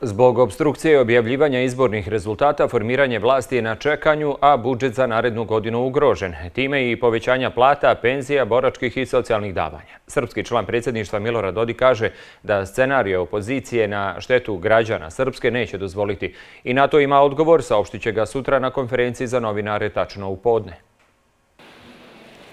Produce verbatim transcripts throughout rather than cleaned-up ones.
Zbog opstrukcije objavljivanja izbornih rezultata, formiranje vlasti je na čekanju, a budžet za narednu godinu ugrožen. Time i povećanja plata, penzija, boračkih i socijalnih davanja. Srpski član predsjedništva Milorad Dodik kaže da scenarij opozicije na štetu građana Srpske neće dozvoliti. I na to ima odgovor, saopštit će ga sutra na konferenciji za novinare tačno u podne.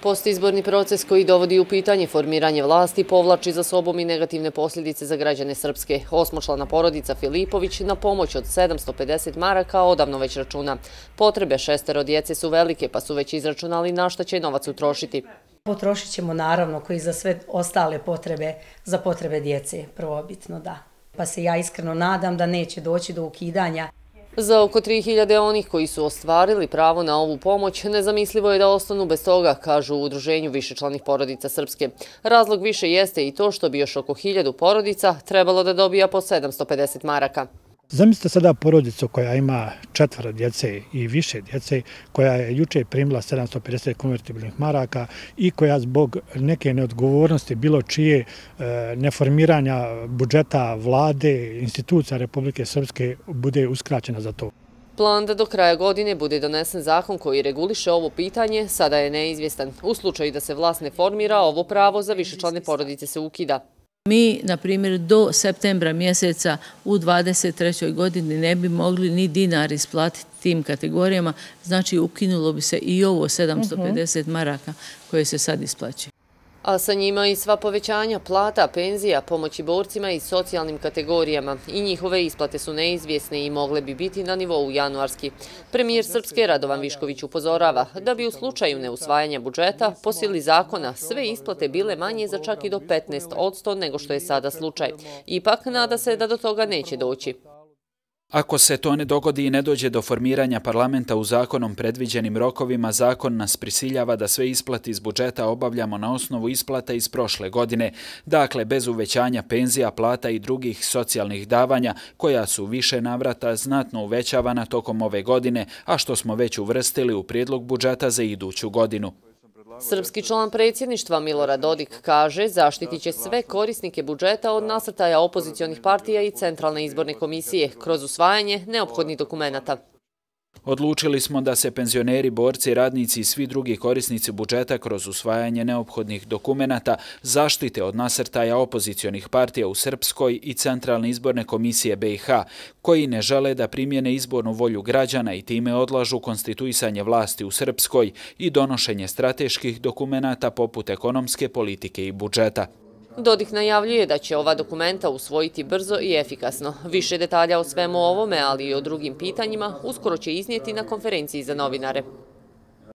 Postizborni proces koji dovodi u pitanje formiranje vlasti povlači za sobom i negativne posljedice za građane Srpske. Osmočlana porodica Filipović na pomoć od sedamsto pedeset maraka odavno već računa. Potrebe šestero djece su velike, pa su već izračunali na šta će novac utrošiti. Potrošit ćemo naravno koji za sve ostale potrebe, za potrebe djece, prvobitno da. Pa se ja iskreno nadam da neće doći do ukidanja. Za oko tri hiljade onih koji su ostvarili pravo na ovu pomoć, nezamislivo je da ostanu bez toga, kažu u Udruženju višečlanih porodica Srpske. Razlog više jeste i to što bi još oko hiljadu porodica trebalo da dobija po sedamsto pedeset maraka. Zamislite sada porodicu koja ima četvoro djece i više djece, koja je juče primila sedamsto pedeset konvertibilnih maraka i koja zbog neke neodgovornosti bilo čije neformiranja budžeta vlade, institucija Republike Srpske bude uskraćena za to. Plan da do kraja godine bude donesen zakon koji reguliše ovo pitanje sada je neizvjestan. U slučaju da se vlast ne formira, ovo pravo za višečlane porodice se ukida. Mi, na primjer, do septembra mjeseca u dvadeset trećoj godini ne bi mogli ni dinar isplatiti tim kategorijama, znači ukinulo bi se i ovo sedamsto pedeset maraka koje se sad isplaćuju. A sa njima i sva povećanja plata, penzija, pomoći borcima i socijalnim kategorijama. I njihove isplate su neizvjesne i mogle bi biti na nivou januarski. Premijer Srpske Radovan Višković upozorava da bi u slučaju neusvajanja budžeta po sili zakona sve isplate bile manje za čak i do petnaest posto nego što je sada slučaj. Ipak nada se da do toga neće doći. Ako se to ne dogodi i ne dođe do formiranja parlamenta u zakonom predviđenim rokovima, zakon nas prisiljava da sve isplate iz budžeta obavljamo na osnovu isplata iz prošle godine, dakle bez uvećanja penzija, plata i drugih socijalnih davanja, koja su više navrata znatno uvećavana tokom ove godine, a što smo već uvrstili u prijedlog budžeta za iduću godinu. Srpski član predsjedništva Milorad Dodik kaže zaštitit će sve korisnike budžeta od nasrtaja opozicionih partija i Centralne izborne komisije kroz usvajanje neophodnih dokumenata. Odlučili smo da se penzioneri, borci, radnici i svi drugi korisnici budžeta kroz usvajanje neophodnih dokumenata zaštite od nasrtaja opozicionih partija u Srpskoj i Centralne izborne komisije B i H, koji ne žele da primjene izbornu volju građana i time odlažu konstituisanje vlasti u Srpskoj i donošenje strateških dokumenata poput ekonomske politike i budžeta. Dodik najavljuje da će ova dokumenta usvojiti brzo i efikasno. Više detalja o svemu ovome, ali i o drugim pitanjima, uskoro će iznijeti na konferenciji za novinare.